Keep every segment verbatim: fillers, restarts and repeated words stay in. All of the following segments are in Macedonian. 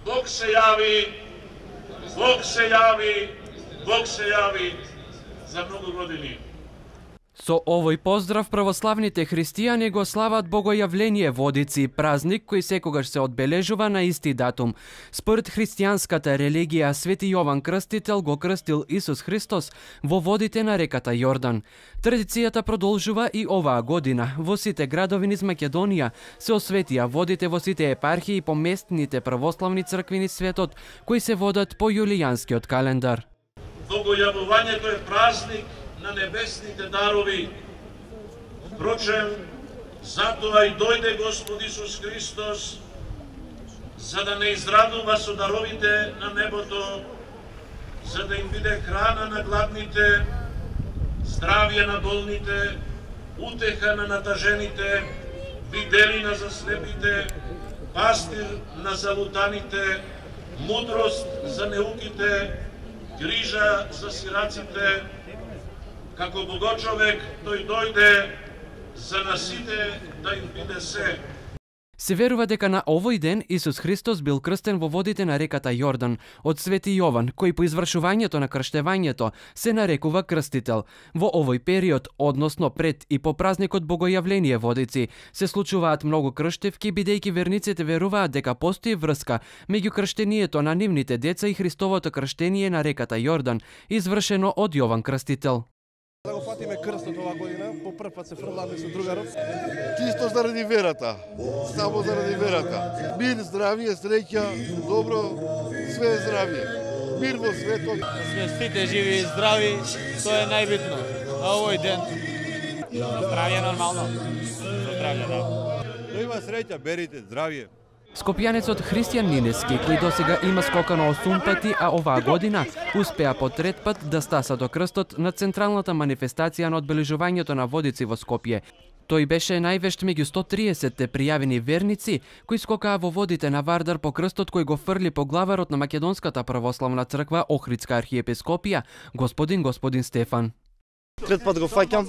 Бог се јави, Бог се јави, Бог се јави за многу години. Со овој поздрав православните христијани го слават Богојавление Водици, празник кој секогаш се одбележува на исти датум. Според христијанската религија, Свети Јован Крстител го крстил Исус Христос во водите на реката Јордан. Традицијата продолжува и оваа година. Во сите градови низ Македонија се осветија водите во сите епархии по местните православни цркви низ светот, кои се водат по јулијанскиот календар. Богојавувањето е празник на небесните дарови. Впрочем, затоа и дојде Господ Исус Христос, за да не израдува со даровите на небото, за да им биде храна на гладните, здравје на болните, утеха на натажените, виделина за слепите, пастир на залутаните, мудрост за неуките, грижа за сираците. Како Богочовек, тој дојде за насите да им биде се. Се верува дека на овој ден Исус Христос бил крстен во водите на реката Јордан од Свети Јован, кој по извршувањето на крштевањето се нарекува крстител. Во овој период, односно пред и по празникот Богојавление Водици, се случуваат многу крштевки, бидејќи верниците веруваат дека постои врска меѓу крштението на нивните деца и Христовото крштение на реката Јордан, извршено од Јован Крстител. Да го фатиме крстот оваа година, по прв пат се фрламе со другаров. Чисто заради верата, само заради верата. Мир, здравје, среќа, добро, све здравје. Мир во светот. Да сме сите живи и здрави, тоа е најбитно. На овој ден. Здравје нормално. Здравје, да. Да има среќа, берите, здравје. Скопјанецот Христијан Нинески, кој досега има скокано осум пати, а оваа година успеа по трет пат да стаса до крстот на централната манифестација на одбележувањето на Водици во Скопје. Тој беше највешт меѓу сто триесетте пријавени верници кои скокаа во водите на Вардар по крстот кој го фрли поглаварот на Македонската православна црква Охридска архиепископија, господин господин Стефан. Трет пат го фаќам,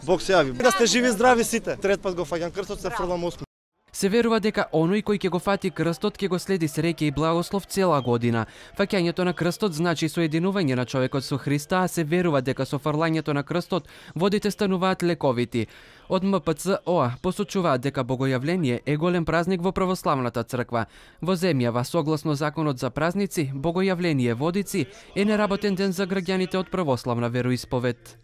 Бог се јави. Да сте живи и здрави сите. Трет пат го фаќам крстот, се фрлам осум. Се верува дека оној кој ќе го фати крстот ќе го следи среќа и благослов цела година. Фаќањето на крстот значи соединување на човекот со Христа, а се верува дека со фрлањето на крстот водите стануваат лековити. Од М П Ц О А посочуваат дека Богојавление е голем празник во православната црква. Во земјава, согласно законот за празници, Богојавление Водици е неработен ден за граѓаните од православна вероисповед.